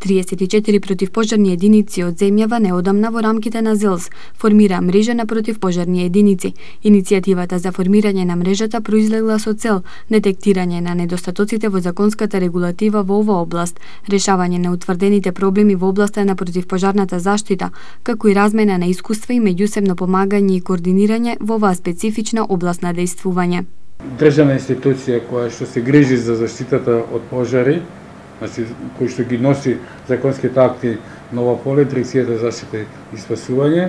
34 противпожарни единици од земјава неодамна во рамките на ЗЕЛС формира мрежа на противпожарни единици. Иницијативата за формирање на мрежата произлегла со цел детектирање на недостатоците во законската регулатива во оваа област, решавање на утврдените проблеми во областа на противпожарната заштита, како и размена на искуства и меѓусебно помагање и координирање во оваа специфична област на дејствување. Државна институција која што се грижи за заштитата од пожари, значи кој што ги носи законските акти на ова поле, Дирекцијата за заштита и спасување.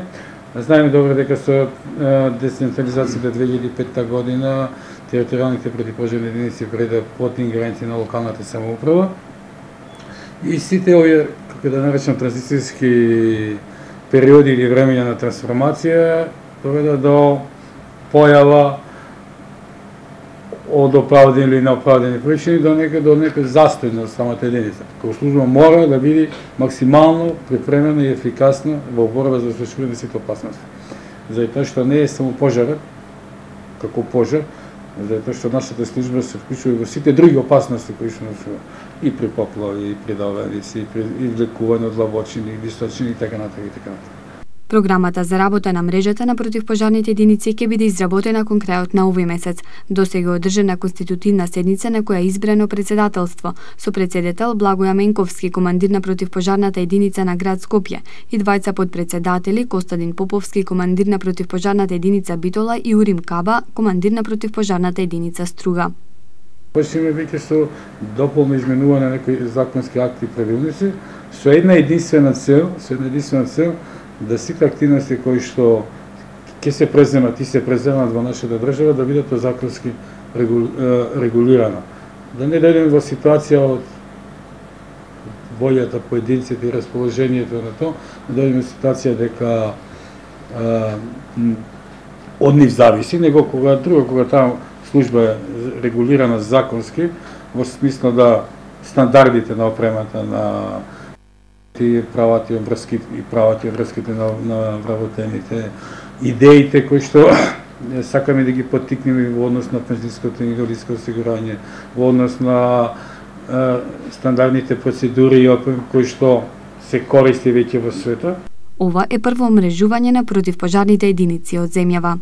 Знаеме добро дека со децентрализацијата 2005 година територијалните противпожарни единици преда под ингеренција на локалната самоуправа. И сите овие, како да наречам, транзицијски периоди или времења на трансформација доведа до појава од оправдани или неоправдани причини до нека застој на самата единица. Како служба мора да биде максимално припремена и ефикасна во борба за случување на сите опасности. Заради тоа што не е само пожарот, како пожар, заради тоа што нашата служба се вклучува и во сите други опасности кои што носува и при поплави, и при давеници, и при излекување од длабочини, височини и така натаму и така натаму. Програмата за работа на мрежата на противпожарните единици ќе биде изработена кон крајот на овој месец. Досега одржана конститутивна седница на која е избрано председателство, со председател Благоја Менковски, командир на противпожарната единица на град Скопје, и двајца подпредседатели, Костадин Поповски, командир на противпожарната единица Битола, и Урим Каба, командир на противпожарната единица Струга. Почнеме веќе со дополно изменување на некои законски акти и правилници, со една единствена цел, да сите активности кои што ќе се преземат и се преземат во нашата држава да бидат законски регулирано. Да не дојдеме во ситуација од волјата поединците и расположението на тоа, да дојдеме во ситуација дека од нив зависи, него кога таа служба е регулирана законски, во смисло да стандардите на опремата на правата и врските на вработените, идеите кои што сакаме да ги поттикнеме во однос на пензионското и инвалидско осигурање, во однос на стандардните процедури кои што се користи веќе во светот. Ова е прво мрежување на противпожарните единици од земјава.